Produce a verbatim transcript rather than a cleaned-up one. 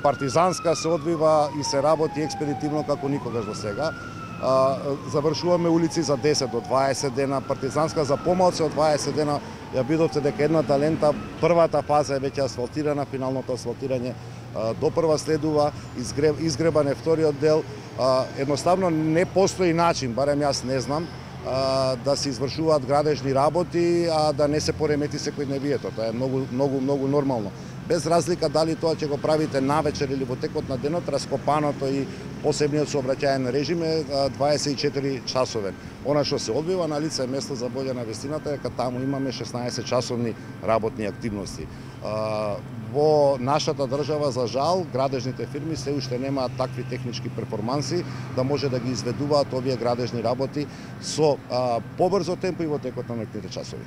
Партизанска се одвива и се работи експедитивно како никогаш до сега. Завршуваме улици за десет до дваесет дена, партизанска за помалку од дваесет дена. Ја видовте дека едната лента, првата фаза е веќе асфалтирана, финалното асфалтирање допрва следува, изгребан е вториот дел. Едноставно не постои начин, барем јас не знам, да се извршуваат градежни работи, а да не се поремети секојдневието. Тоа е многу многу многу нормално. Без разлика дали тоа ќе го правите навечер или во текот на денот, раскопаното и посебниот сообраќајен режим е дваесет и четири часовен. Она што се одвива на лице место за болја на вестината е дека таму имаме шеснаесет часовни работни активности. Во нашата држава, за жал, градежните фирми се уште немаат такви технички перформанси да може да ги изведуваат овие градежни работи со побрзо темпо и во текот на ноќните часови.